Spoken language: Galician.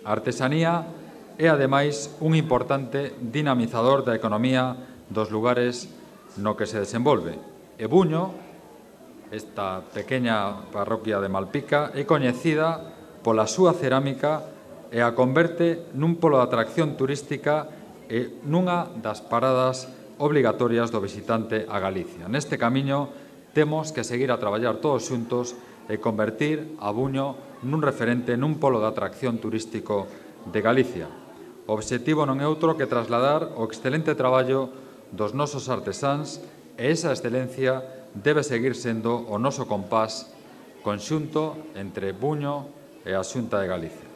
A artesanía é, ademais, un importante dinamizador da economía dos lugares no que se desenvolve. E Buño, esta pequena parroquia de Malpica, é coñecida pola súa cerámica e a converte nun polo de atracción turística e nunha das paradas obrigatorias do visitante a Galicia. Neste camiño temos que seguir a traballar todos xuntos e convertir a Buño nun referente, nun polo de atracción turístico de Galicia. O obxectivo non é outro que trasladar o excelente traballo dos nosos artesáns e esa excelencia debe seguir sendo o noso compás conxunto entre Buño e a Xunta de Galicia.